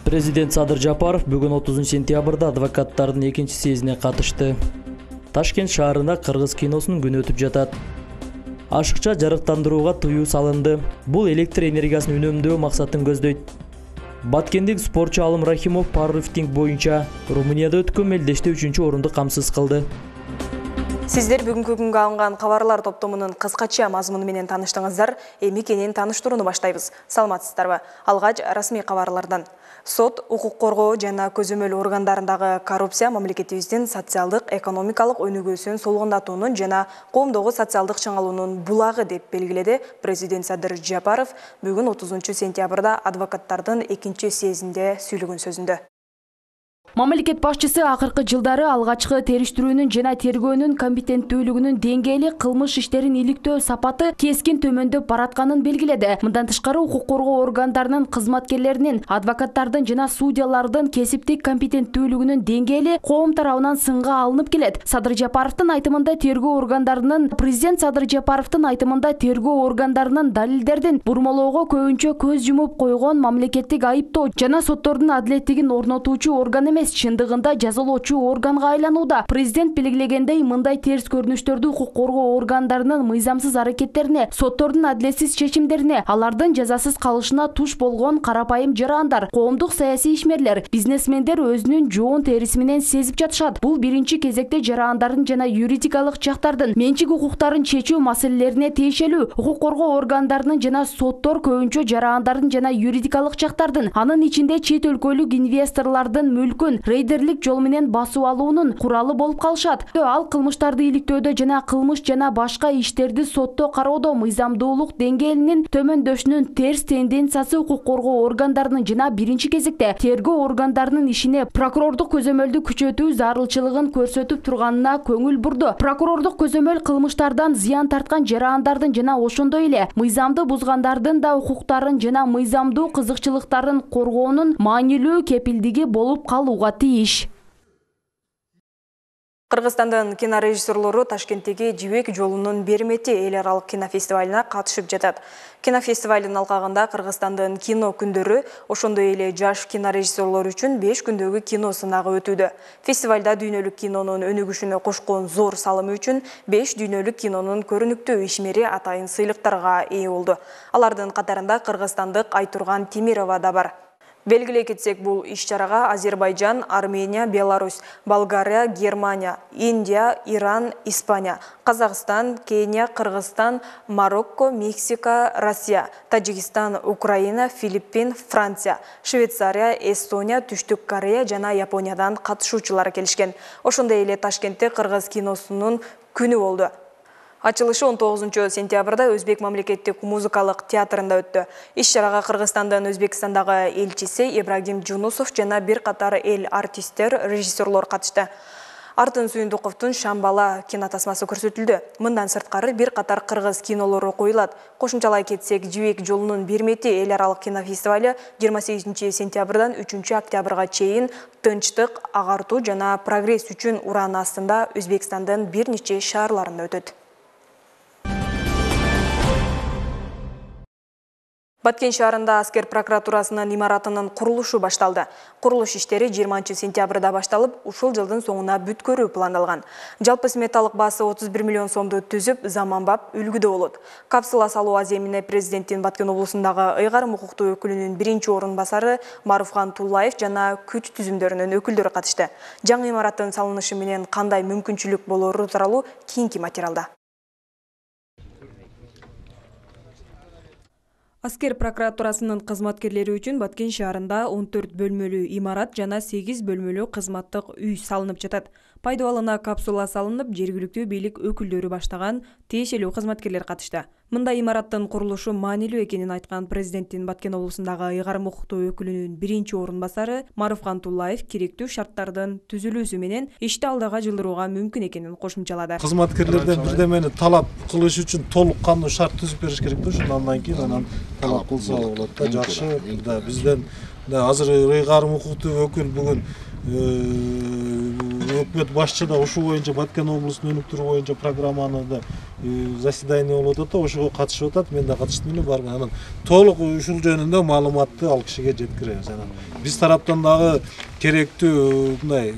Президент Садыр Жапаров бүгүн 30 сентябрда адвокаттардын экинчи съездине катышты. Ташкент шаарында кыргыз киносунун күнү өтүп жатат. Ашыкча жарыктандырууга тыюу салынды. Бул электр энергиясын үнөмдөө максатын көздөйт. Баткендик спортчу Алым Рахимов пауэрлифтинг боюнча Румынияда өткөн мелдеште 3-орунду камсыз кылды. Сиздер бүгүнкү күнгө алынган кабарлар топтомунун кыскача мазмуну менен тааныштыңыздар. Эми кенен тааныштырууну баштайбыз. Саламатсыздарбы? Алгач расмий кабарлардан. Сот, укук коргоо жана көзөмөл органдарындагы коррупция мамлекетибиздин социалдык, экономикалык өнүгүүсүн солгундатуунун жана коомдогу социалдык чыңалуунун булагы деп белгиледи президент Садыр Жапаров бүгүн 30 сентябрда адвокаттардын экинчи съездинде сүйлөгөн сөзүндө. Мамлекет башчысы акыркы жылдары алгачкы териштирүүнүн жана тергөөнүн компетенттүүлүгүнүн деңгээли, кылмыш иштерин иликтөө сапаты кескин төмөндөп баратканын белгиледи. Мындан тышкары укук коргоо органдарынын кызматкерлеринин, адвокаттардын жана судьялардын кесиптик компетенттүүлүгүнүн деңгээли коом тарабынан сынга алынып келет. Президент Садыр Жапаровдун айтымында тергөө органдарынын далилдердин бурмалоого көбүнчө көз жумуп койгон мамлекеттик айыптоо жана соттордун адилеттигин орнотуучу орган эмес, чындыгында жазалоочу органга айланууда. Президент белгилегендей, мындай терс көрүнүштөрдү укук коргоо органдарынын мыйзамсыз аракеттерине, соттордун адилетсиз чечимдерине, алардын жазасыз калышына туш болгон карапайым жарандар, коомдук саясий ишмерлер, бизнесмендер өзүнүн жоон териси менен сезип жатышат. Бул биринчи кезекте жарандардын жана юридикалык жактардын менчик укуктарын чечүү маселелерине тиешелүү. Укук коргоо органдарынын жана соттор көбүнчө жарандардын жана юридикалык жактардын, анын ичинде чет өлкөлүк инвесторлордун мүлкүн рейдерлик жол менен басып алуунун куралы болуп калышат. Ал кылмыштарды иликтөөдө жана кылмыш жана башка иштерди сотто кароодо мыйзамдуулук деңгээлинин төмөндөшүнүн терс тенденциясы укук коргоо органдарынын жана биринчи кезекте тергөө органдарынын ишине прокурордук көзөмөлдү күчөтүү зарылчылыгын көрсөтүп турганына көңүл бурду. Прокурордук көзөмөл кылмыштардан зыян тарткан жарандардын жана ошондой эле мыйзамды бузгандардын да укуктарын жана мыйзамдуу кызыкчылыктарын коргоонун маанилүү кепилдиги болуп калууга тийиш. Кыргызстандын кинорежиссерлору Ташкенттеги Жибек жолунун Бермети эл аралык кинофестивалына катышып жатат. Кинофестивалдын алкагында Кыргызстандын кино күндөрү, ошондой эле жаш кинорежиссерлор үчүн 5 күндөгү кино сынагы өтүүдө. Фестивалда дүйнөлүк кинонун өнүгүшүнө кошкон зор салымы үчүн 5 дүйнөлүк кинонун көрүнүктүү ишмери атайын сыйлыктарга ээ болду. Алардын катарында кыргызстандык Айтурган Темирова да бар. Белгилей кетсек, бул иш-чарага Азербайжан, Армения, Беларусь, Болгария, Германия, Индия, Иран, Испания, Казакстан, Кения, Кыргызстан, Марокко, Мексика, Россия, Таджикистан, Украина, Филиппин, Франция, Швейцария, Эстония, Түштүк Корея жана Япониядан катышуучулар келишкен. Ошондой эле Ташкентте кыргыз киносунун күнү болду. Ачылышы 19 сентябрда Өзбек мамлекеттик музыкалык театрында өттү. Иш-чарага Кыргызстандын Өзбекстандагы элчиси Ибрагим Жунусов жана бир катар эл артисттер, режиссерлор катышты. Артын Сүйүндүковдун Шамбала кинотасмасы көрсөтүлдү. Мындан сырткары бир катар кыргыз кинолору коюлат. Кошумчалай кетсек, Жибек жолунун Бермети эл аралык кинофестивалю 28 сентябрдан 3 октябрга чейин тынчтык, агартуу жана прогресс үчүн уран астында Өзбекстандын бир нече шаарларында өтөт. Баткен шаарында аскер прокуратурасынын имаратынын курулушу башталды. Курулуш иштери 20 сентябрда башталып, ушул жылдын соңуна бүткөрүү пландалган. Жалпы сметалык баасы 31 миллион сомду түзүп, заманбап үлгүдө болот. Капсула салуу аземине президенттин Баткен облусундагы ыйгарым укуктуу өкүлүнүн биринчи орун басары Маруфхан Туллаев жана күч түзүмдөрүнүн өкүлдөрү катышты. Жаңы имараттын салынышы менен кандай мүмкүнчүлүк болору тууралуу кийинки материалда. Аскер прокуратурасынын кызматкерлери үчүн Баткен шаарында 14 бөлмөлүү имарат жана 8 бөлмөлүү кызматтык үй салынып жатат. Пайдаланууна капсула салынып, жергиликтүү бийлик өкүлдөрү баштаган тиешелүү кызматкерлер катышты. Мындай имараттын курулушу маанилүү экенин айткан президенттин Баткен облусундагы ыйгарым укуктуу өкүлүнүн биринчи орун басары Маруфхан Туллаев керектүү шарттардын түзүлүүсү менен ишти алдыга жылдырууга мүмкүн экенин кошумчалады. Кызматкерлерден бирдемени талап кылыш үчүн толук кандуу шарт түзүп бериш керек да, андан кийин анан талап кылса болот да, жакшы. Бизден азыр ыйгарым укуктуу өкүл бүгүн өкмөт башчы да ушул боюнча Баткен облусунун өнүктүрүү боюнча программаны да заседание болуп атат да, ошого катышып атат. Мен да катыштым эле барган. Анан толук ушул жөнүндө маалыматты ал кишиге жеткиребиз. Анан биз тараптан дагы керектүү мындай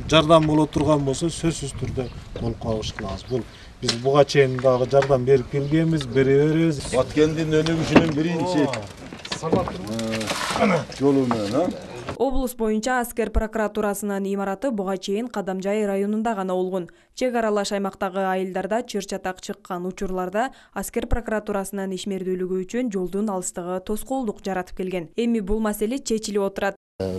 жардам боло турган болсо сөзсүз түрдө болуп калыш кылабыз. Бул биз буга чейин дагы жардам берип келгенбиз, бере беребиз. Баткендин өнүгүшүнүн биринчи жолу менен Облус боюнча аскер прокуратурасынын имараты буга чейин Кадамжай районунда гана болгон. Чек аралаш аймактагы айылдарда чыр-чатак чыккан учурларда аскер прокуратурасынын ишмердүүлүгү үчүн жолдун алыстыгы тоскоолдук жаратып келген. Эми бул маселе чечилип отурат.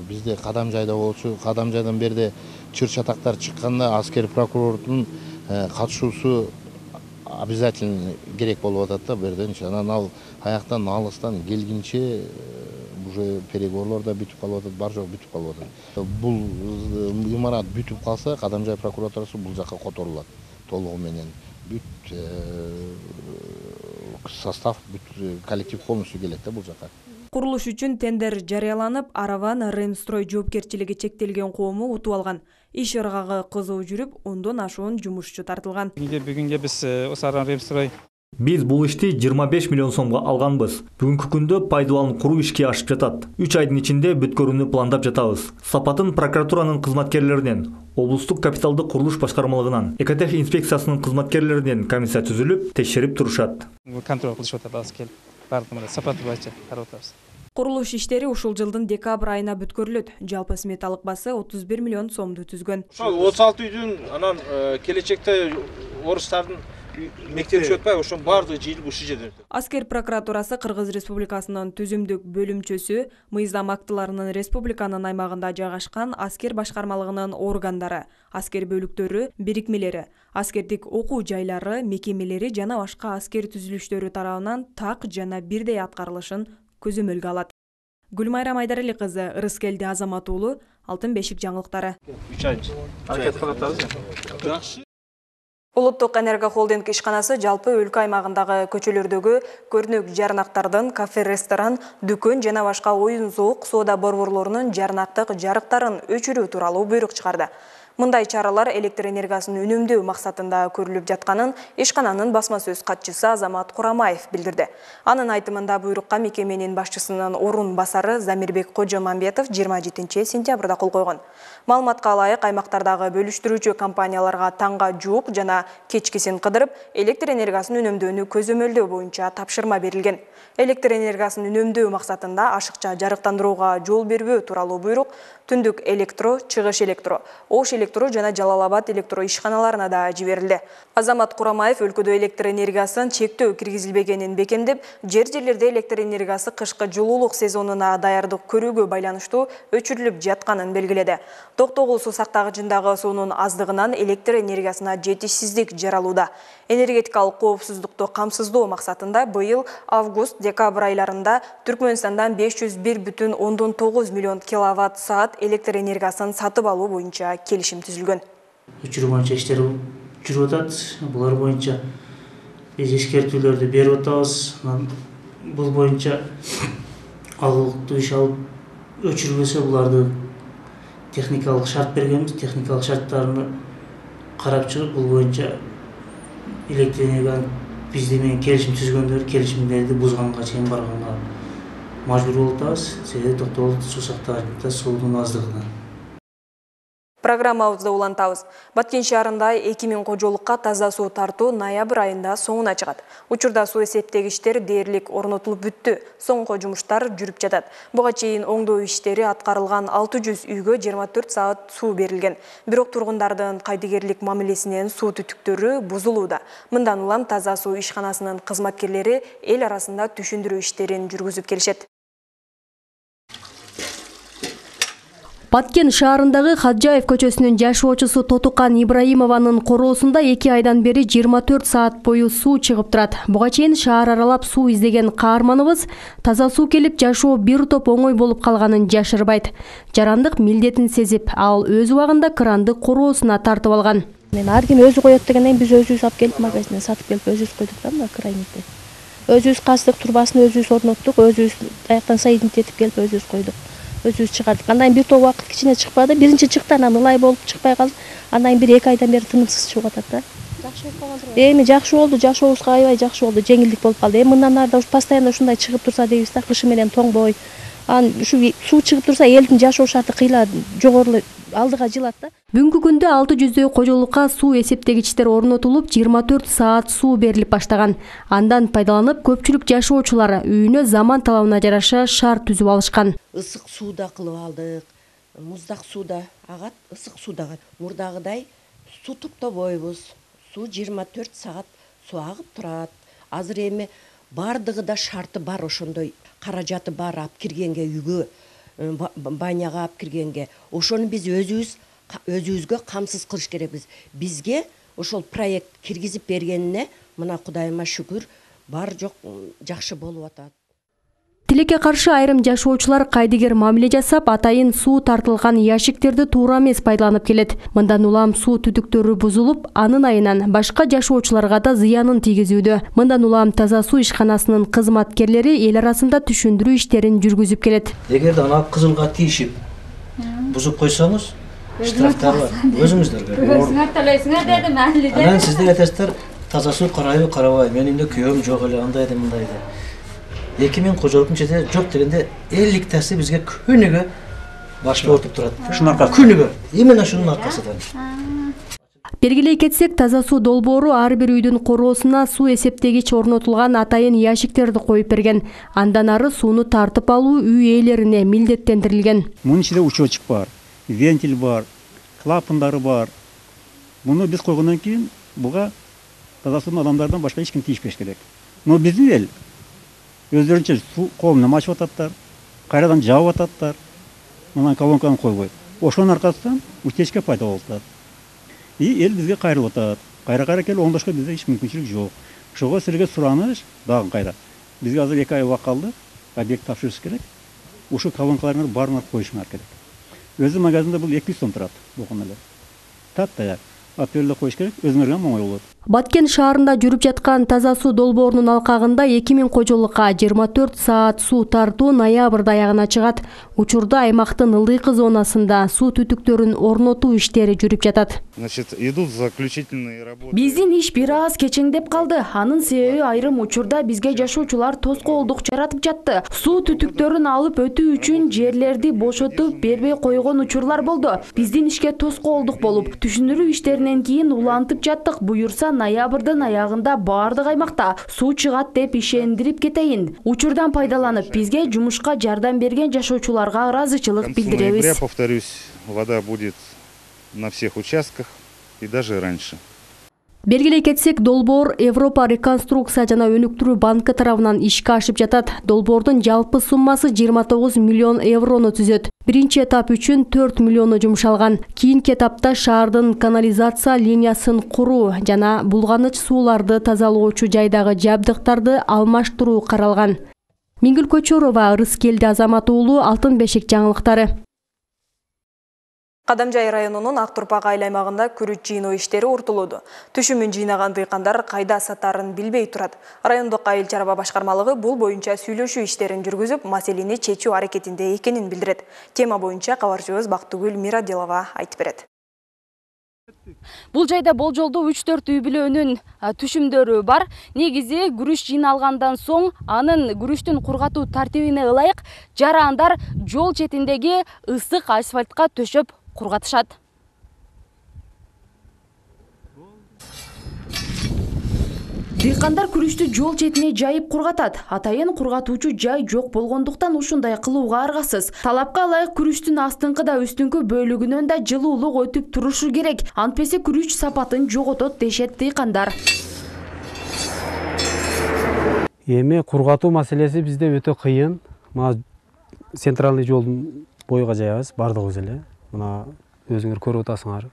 Бизде Кадамжайда болчу, Кадамжайдан берде чыр-чатактар чыкканда аскер прокурордун катышуусу обязательно керек болуп атат да берден. Анан ал аяктан алыстан келгинче уже переговорлор да бүтүп калып атат, бар жок бүтүп калып атат. Бул имарат бүтүп калса, Кадамжай прокуратурасы бул жакка которулат толугу менен. Бүт состав, бүт коллектив полностью келет да бул жакка. Курулуш үчүн тендер жарыяланып, Араван Ремстрой жоопкерчилиги чектелген коому утуп алган. Иш ыргагы кызуу жүрүп, 10дон ашуун жумушчу тартылган. Бүгүнгө биз Араван Ремстрой Биз бул ишти 25 миллион сомго алганбыз. Бүгүнкү күндө пайдаланып куруу ишке ашып жатат. 3 айдын ичинде бүткөрүүнү пландап жатабыз. Сапатын прокуратуранын кызматкерлеринен, облустук капиталдык курулуш башкармалыгынан, Экотех инспекциясынын кызматкерлеринен комиссия түзүлүп, текшерип турушат. Контроль кылышып атат, келип бардыгында сапаты боюнча карап атабыз. Курулуш иштери ушул жылдын декабрь айына бүткөрүлөт. Жалпы сметалык басы 31 миллион сомду түзгөн. Ошол 36 үйдүн анан келечекте орустардын мектеп өтпөй, ошон баардыгы жыйылып ушул жерде. Аскер прокуратурасы Кыргыз Республикасынын түзүмдүк бөлүмчөсү мыйзам актыларынын республиканын аймагында жайгашкан аскер башкармалыгынын органдары, аскер бөлүктөрү, бирикмелери, аскердик окуу жайлары, мекемелери жана башка аскер түзүлүштөрү тарабынан так жана бирдей аткарылышын көзөмөлгө алат. Гүлмайра Майдарали кызы, Ырыскелди Азамат уулу, Алтын бешик жаңылыктары. 3 ай аракет кылып атабыз. Жакшы. Улуттук энерго холдинг ишканасы жалпы өлкө аймагындагы көчөлөрдөгү көрүнөк жарнактардын кафе, ресторан, дүкөн жана башка оюн-зоок соода борборлорунун жарнактык жарыктарын өчүрүү тууралуу буйрук чыгарды. Мындай чаралар электр энергиясын үнөмдөө максатында көрүлүп жатканын ишкананын басма сөз катчысы Азамат Курамаев билдирди. Анын айтымында буйрукка мекеменин башчысынын орун басары Замирбек Кожомамбетов 27 сентябрда кол койгон. Маалыматка ылайык, аймактардагы бөлүштүрүүчү компанияларга таңга жуук жана кечкисин кыдырып, электр энергиясын үнөмдөөнү көзөмөлдөө боюнча тапшырма берилген. Электр энергиясын үнөмдөө максатында ашыкча жарыктандырууга жол бербөө тууралуу буйрук Түндүк электро, Чыгыш электро, Ош электро жана Жалалабад электро ишканаларына да жиберилди. Азамат Курамаев өлкөдө электр энергиясын чектөө киргизилбегенин бекемдеп, жерлерде электр энергиясы кышкы жылуулук сезонуна даярдык көрүүгө байланыштуу өчүрүлүп жатканын белгиледи. Токтогул суу сактагычындагы суунун аздыгынан электр энергиясына жетишсиздик жаралууда. Энергетикалык коопсуздукту камсыздоо максатында быйыл август-декабрь айларында Түркмөнстандан 501,9 миллион киловатт-саат электр энергиясын сатып алуу боюнча келишим түзүлгөн. Өчүрүү боюнча иштер жүрүп атат. Булар боюнча биз эскертүүлөрдү берип атабыз. Бул боюнча алгылыктуу иш алып өчүрбөсө буларды техникалык шарт бергенбиз. Техникалык шарттарына карап чыгып, бул боюнча электр энергияны бизде менен келишим түзгөндөр келишимдерди бузганга чейин барганга мажбур болуп атабыз. Себеби токтогул суу сактагычында суунун аздыгынан. Программабызды улантабыз. Баткен шаарында 2000 кожолукка таза суу тартуу ноябрь айында соңуна чыгат. Учурда суу эсептегичтер дээрлик орнотулуп бүттү. Соңку жумуштар жүрүп жатат. Буга чейин оңдоо иштери аткарылган 600 үйгө 24 саат суу берилген. Бирок тургундардын кайдыгерлик мамилесинен суу түтүктөрү бузулууда. Мындан улам таза суу ишканасынын кызматкерлери эл арасында түшүндүрүү иштерин жүргүзүп келишет. Баткен шаарындагы Хаджаев көчөсүнүн жашоочусу Тотукан Ибраимованын короосунда 2 айдан бери 24 саат бою суу чыгып турат. Буга чейин шаар аралап суу издеген каарманыбыз таза суу келип жашоо бир топ оңой болуп калганын жашырбайт. Жарандык милдетин сезип, ал өз убагында кранды короосуна тартып алган. Мен ар ким өзү коет дегенден биз өзүбүз алып келип магазинден сатып келип өзүбүз койдук да мына крайникти. Өзүбүз каздык, турбасын өзүбүз орноттук, өзүбүз аяктан соединить этип келип өзүбүз койдук. өзүбүз чыгардык. Андан бир топ убакыт кичине чыкпады. Биринчи чыкты, анан ылай болуп чыкпай калды. Андан бир 2 айдан бери тынымсыз чыгып атат да. Жакшы болуп калган. Эми жакшы болду, жашообузга аябай жакшы болду, жеңилдик болуп калды. Эми мындан ары да постоянно ушундай чыгып турса дейбиз да, кышы менен тоңбой. Анан ушу суу чыгып турса, элдин жашоо шарты кыйла жогору алдыга жылат да. Бүгүнкү күндө 600дөй кожолукка суу эсептегичтер орнотулуп, 24 саат суу берилип баштаган. Андан пайдаланып, көпчүлүк жашоочулар үйүнө заман талабына жараша шаар түзүп алышкан. Ысык сууда кылып алдык, муздак сууда агат, ысык сууда агат. Мурдагыдай суу токтобойбуз. Суу 24 саат суу агып турат. Азыр эми бардыгы да шарты бар, ошондой каражаты бар, алып киргенге үйгө, баняга алып киргенге. Ошону биз өзүбүзгө камсыз кылыш керекпиз. Бизге ошол проект киргизип бергенине мына Кудайыма шүгүр, бар жок жакшы болуп атат. Тилекке каршы айрым жашоочулар кайдыгер мамиле жасап, атайын суу тартылган ящиктерди туура эмес пайдаланып келет. Мындан улам суу түтүктөрү бузулуп, анын айынан башка жашоочуларга да зыянын тийгизүүдө. Мындан улам таза суу ишканасынын кызматкерлери эл арасында түшүндүрүү иштерин жүргүзүп келет. Эгерде ана кызылга тийишип, бузуп койсоңуз, штрафтар бар. Өзүңүздөргө. Өзүңөр төлөйсүңөр дедим, али деп. Анан сиздер айтасыздар, таза суу карайбы, карабай. Менин үйдө күйөөм жок эле, андай да мындай да. 2000 кожолуктун чете жок дегенде 50тасы бизге күнүгө башка отуп турат. Ушунун аркасы. Күнүгө. Именно ушунун аркасынан. Белгилей кетсек, таза суу долбоору ар бир үйдүн короосуна суу эсептегич орнотулган атайын ящиктерди коюп берген. Андан ары сууну тартып алуу үй ээлерине милдеттендирилген. Мунун ичинде учетчик бар, вентиль бар, клапандары бар. Муну биз койгондон кийин буга таза сууну адамдардан башка эч ким тийишпеш керек. Но биздин эл өздөрүнчө суу кол менен ачып ататтар, кайрадан жаап ататтар. Мына колонканы койбой. Ошонун аркасынан утечка пайда болуп атат. Эл бизге кайрылып атат. Кайра келип оңдошко бизде эч мүмкүнчүлүк жок. Ошого силерге сураныш дагы кайра. Бизге азыр 2 ай убакыт калды. Объект тапшырыш керек. Ушу колонкаларды баарына коюшуңар керек. Өзү магазинде бул 200 сом турат. Букун эле. Таттаяк. Апелде коюш керек, өзүңөргө оңой болот. Баткен шаарында жүрүп жаткан таза суу долбоорунун алкагында 2000 кожолукка 24 саат суу тартуу ноябрда аягына чыгат. Учурда аймактын ылдыйкы зонасында суу түтүктөрүн орнотуу иштери жүрүп жатат. Значит, идут заключительные работы. Биздин иш бир аз кечеңдеп калды. Анын себеби айрым учурда бизге жашоочулар тоскоолдук жаратып жатты. Суу түтүктөрүн алып өтүү үчүн жерлерди бошотуп бербей койгон учурлар болду. Биздин ишке тоскоолдук болуп, түшүндүрүү иштеринен кийин улантып жаттык. Буюрса ноябрдын аягында баардык аймакта суу чыгат деп ишендирип кетейин. Учурдан пайдаланып, бизге жумушка жардам берген жашоочуларга ыраазычылык билдиребиз. К концу ноября, повторюсь, вода будет на всех участках и даже раньше. Белгилей кетсек, долбоор Европа реконструкция жана өнүктүрүү банкы тарабынан ишке ашып жатат. Долбоордун жалпы суммасы 29 миллион еврону түзөт. Биринчи этап үчүн 4 миллиону жумшалган. Кийинки этапта шаардын канализация линиясын куруу жана булганыч сууларды тазалоочу жайдагы жабдыктарды алмаштыруу каралган. Миңгүл Көчөрова, Ырыскелди Азамат уулу, Алтын бешик жаңылыктары. Кадамжай районунун Ак Турпак айыл аймагында күрүч жыйноо иштери уртулууда. Түшүмүн жыйнаган дыйкандар кайда сатарын билбей турат. Райондук айыл чарба башкармалыгы бул боюнча сүйлөшүү иштерин жүргүзүп, маселени чечүү аракетинде экенин билдирет. Тема боюнча кабарчыбыз Бактыгүл Мирадилова айтып берет. Бул жайда болжолдуу 3-4 үй бүлөнүн түшүмдөрү бар. Негизи күрүч жыйналгандан соң анын күрүчтүн кургатуу тартибине ылайык жарандар жол четиндеги ысык асфальтка төшөп кургатышат. Дыйкандар күрүчтү жол четине жайып кургатат. Атайын кургатуучу жай жок болгондуктан ушундай кылууга аргасыз. Талапка ылайык күрүчтүн астыңкы да үстүңкү бөлүгүнөн да жылуулук өтүп турушу керек. Антпесе күрүч сапатын жоготот дешет дыйкандар. Эми кургатуу маселеси бизде өтө кыйын. Мына центральный жолдун боюга жаябыз, бардыгыбыз эле. Мына өзүңөр көрүп атасыңар.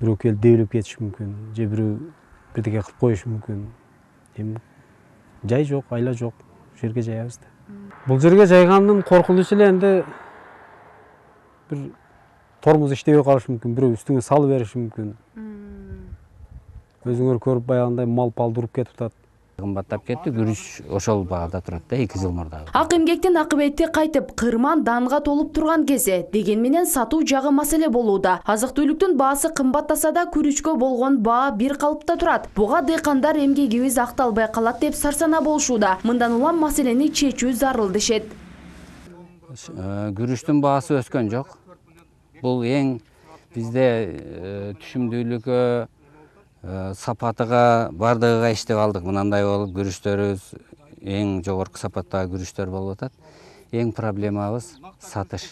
Бирөө келип дебилип кетиши мүмкүн, же бирөө бирдеке кылып коюшу мүмкүн. Эми жай жок, айла жок, жерге жаябыз да. Бул жерге жайгандын коркунучу эле энди бир тормоз иштебей калышы мүмкүн, бирөө үстүңө салып бериши мүмкүн. Өзүңөр көрүп баягындай мал пал дуруп кетип атат. кымбаттап кетти. Күрүч ошол баада турат да 2 жыл мурда. Ак эмгектин акыбети кайтып, кырман данга толуп турган кези, деген менен сатуу жагы маселе болууда. Азык-түлүктүн баасы кымбаттаса да күрүчкө болгон баа бир калыпта турат. Буга дыйкандар эмгегибиз акталбай калат деп сарсана болушууда. Мындан улам маселени чечүү зарыл дешет. Күрүчтүн баасы өскөн жок. Бул эң бизде түшүмдүүлүккө, сапатыга, бардыгыга иштеп алдык. Мынандай болуп күрүчтөрүбүз эң жогорку сапаттагы күрүчтөр болуп атат. Эң проблемабыз сатыш.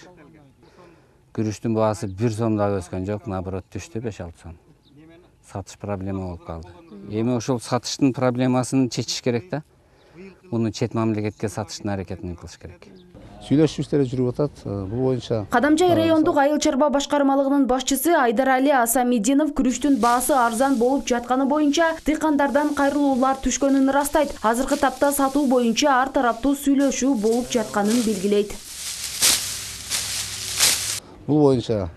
Күрүчтүн баасы 1 сомдо өскөн жок, наоборот түштү 5-6 сом. Сатыш проблема болуп калды. Эми ошол сатыштын проблемасын чечиш керек да. Муну чет мамлекетке сатыштын аракетин кылыш керек. Сүйлөшүү иштери жүрүп атат. Бул боюнча Кадамжай райондук айыл чарба башкармалыгынын башчысы Айдарали Асамидинов күрүчтүн баасы арзан болуп жатканы боюнча дыйкандардан кайрылуулар түшкөнүн ырастайт. Азыркы тапта сатуу боюнча ар тараптуу сүйлөшүү болуп жатканын белгилейт. Бул боюнча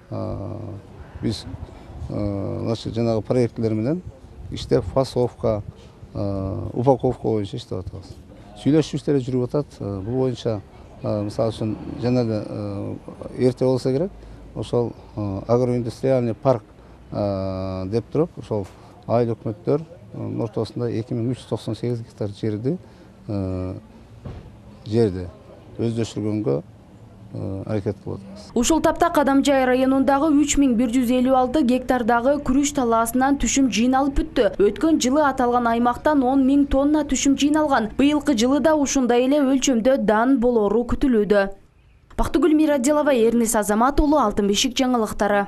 биз жанагы проектлер менен иштеп фасовка, упаковка боюнча иштеп атабыз. Сүйлөшүү иштери жүрүп атат. Бул боюнча мисалы үчүн жана эрте болсо керек, ошол агроиндустриальный парк деп туруп, ошол айыл өкмөттөр ортосунда 2398 гектар жерди өздөштүргөнгө аракет кылып атабыз. Ушул тапта Кадамжай районундагы 3156 гектардагы күрүч талаасынан түшүм жыйналып бүттү. Өткөн жылы аталган аймактан 10 000 тонна түшүм жыйналган. Быйылкы жылы да ушундай эле өлчөмдө дан болору күтүлүүдө. Бактыгүл Мирадилова, Эрнис Азамат уулу, Алтын бешик жаңылыктары.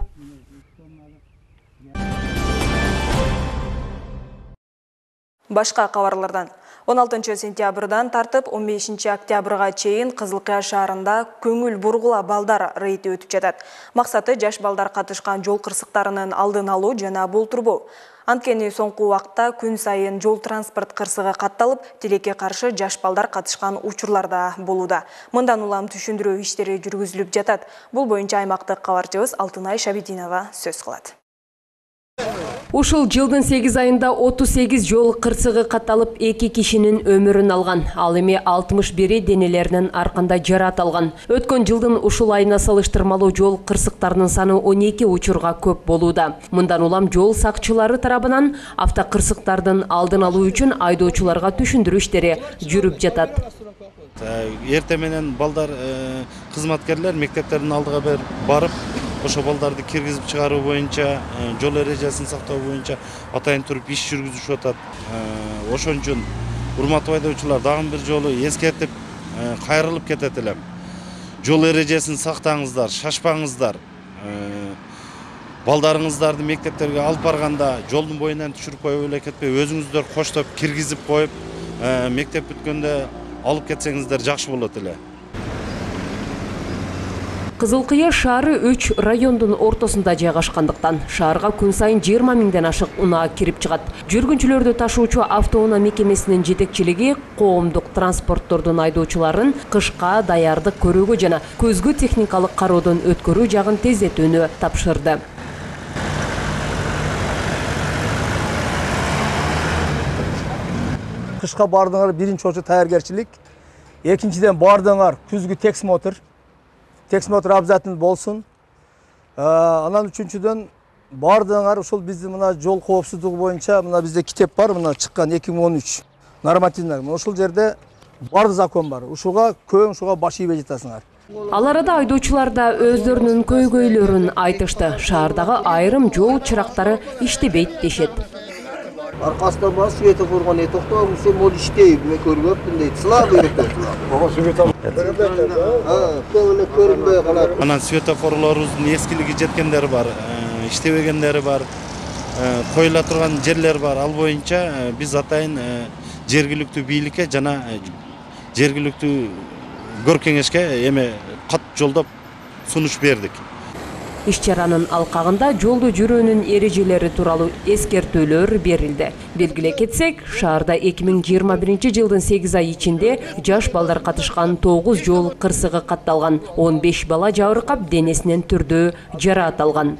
Башка кабарлардан 16 сентябрдан тартып 15 октябрга чейин Кызыл Кыя шаарында көңүл бургула балдар рейди өтүп жатат. Максаты жаш балдар катышкан жол кырсыктарынын алдын алуу жана болтурбоо. Анткени соңку убакта күн сайын жол транспорт кырсыгы катталып, тилекке каршы жаш балдар катышкан учурлар да болууда. Мындан улам түшүндүрүү иштери жүргүзүлүп жатат. Бул боюнча аймактык кабарчыбыз Алтынай Шабидинова сөз кылат. Ушул жылдын 8 айында 38 жол кырсыгы катталып, 2 кишинин өмүрүн алган. Ал эми 61 денелеринин арканда жараат алган. Өткөн жылдын ушул айына салыштырмалуу жол кырсыктарынын саны 12 учурга көп болууда. Мындан улам жол сакчылары тарабынан автокырсыктардын алдын алуу үчүн айдоочуларга түшүндүрүү иштери жүрүп жатат. Эрте менен балдар кызматкерлер мектептердин алдыга барып, ошо балдарды киргизип чыгаруу боюнча, жол эрежесин сактоо боюнча атайын туруп иш жүргүзүшүп атат. Ошон үчүн урматтуу айдоочулар дагы бир жолу эскертип кайрылып кетет элем. Жол эрежесин сактаңыздар, шашпаңыздар. Балдарыңыздарды мектептерге алып барганда жолдун боюнан түшүрүп коюп эле кетпей, өзүңүздөр коштоп киргизип коюп, мектеп бүткөндө алып кетсеңиздер жакшы болот эле. Кызыл Кыя шаары 3 райондун ортосунда жайгашкандыктан шаарга күн сайын 20 000ден ашык унаа кирип чыгат. Жүргүнчүлөрдү ташуучу автоунаа мекемесинин жетекчилиги коомдук транспорттордун айдоочуларын кышка даярдык көрүүгө жана көзгү техникалык кароодон өткөрүү жагын тездетүүнү тапшырды. Кышка бардыңар биринчи очу даяргерчилик, экинчиден бардыңар күзгү тексмотр обязательно болсун. Анан үчүнчүдөн бардыңар ушул биздин мына жол коопсуздугу боюнча мына бизде китеп бар, мына чыккан 2013 нормативдер. Ушул жерде бар закон бар. Ушуга баш ийбей жатасыңар. Ал арада айдоочулар да өздөрүнүн көйгөйлөрүн айтышты. Шаардагы айрым жол чырактары иштебейт дешет. Аркасынан бар светофорго не токтогум, сен мол иштейт, мен көрбөпмүн дейт. Слабый экен. Ого, светофор. Көрүнбөй калат. Анан светофорлорубуздун эскилиги жеткендери бар, иштебегендери бар, коюла турган жерлер бар. Ал боюнча биз атайын жергиликтүү бийликке жана жергиликтүү көркеңешке эме кат жолдоп сунуш бердик. Иш-чаранын алкагында жолдо жүрүүнүн эрежелери тууралуу эскертүүлөр берилди. Белгилей кетсек, шаарда 2021 жылдын 8 ай ичинде жаш балдар катышкан 9 жол кырсыгы катталган. 15 бала жабыркап, денесинен түрдүү жараат алган.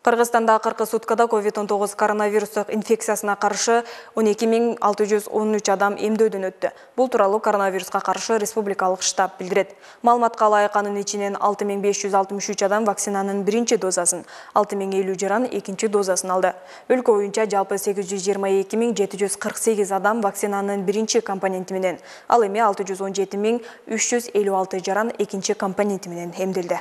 Кыргызстанда акыркы суткада COVID-19 коронавирустук инфекциясына каршы 12.613 адам эмдөөдөн өттү. Бул тууралуу коронавируска каршы республикалык штаб билдирет. Маалыматка ылайык анын ичинен 6.563 адам вакцинанын биринчи дозасын, 6.050 жаран экинчи дозасын алды. Өлкө боюнча жалпы 822.748 адам вакцинанын биринчи компоненти менен, ал эми 617.356 жаран экинчи компоненти менен эмделди.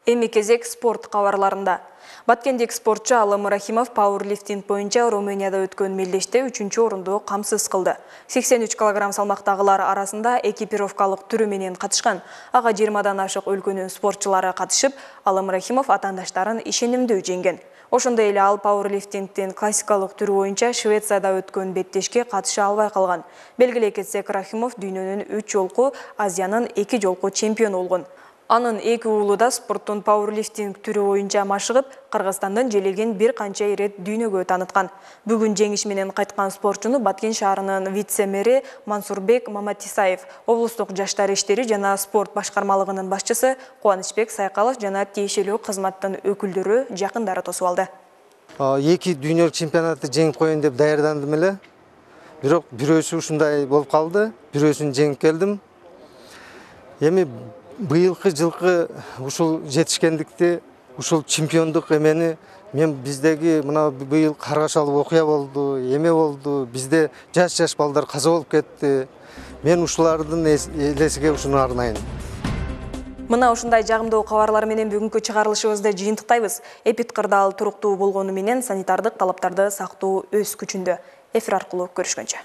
Эми кезек спорт кабарларында. Баткендик спортчу Алым Рахимов пауэрлифтинг боюнча Румынияда өткөн мелдеште 3-чү орунду камсыз кылды. 83 кг салмактагылар арасында экипировкалык түрү менен катышкан. Ага 20дан ашык өлкөнүн спортчулары катышып, Алым Рахимов атаандаштарын ишенимдүү жеңген. Ошондой эле ал пауэрлифтингдин классикалык түрү боюнча Швецияда өткөн беттешке катыша албай калган. Белгилей кетсек, Рахимов дүйнөнүн 3 жолку, Азиянын 2 жолку чемпиону болгон. Анын эки уулу да спорттун пауэрлифтинг түрү боюнча машыгып, Кыргызстандын желеген бир канча ирет дүйнөгө тааныткан. Бүгүн жеңиш менен кайткан спортчуну Баткен шаарынын вице-мэри Мансурбек Маматисаев, облустук жаштар иштери жана спорт башкармалыгынын башчысы Кубанычбек Сайкалов жана тиешелүү кызматтын өкүлдөрү жакындары тосуп алды. Эки дүйнөлүк чемпионатты жеңип коеюн деп даярдандым эле. Бирок бирөөсү ушундай болуп калды. Бирөөсүн жеңип келдим. Эми быйылкы жылкы ушул жетишкендикти, ушул чемпиондук эмени мен биздеги мына быйыл каргашалуу окуя болду, эме болду. Бизде жаш балдар каза болуп кетти. Мен ушулардын элесиге ушуну арнайын. Мына ушундай жагымдуу кабарлар менен бүгүнкү чыгарылышыбызды жыйынтыктайбыз. Эпидкырдаал туруктуу болгону менен санитардык талаптарды сактоо өз күчүндө. Эфир аркылуу көрүшкөнчө.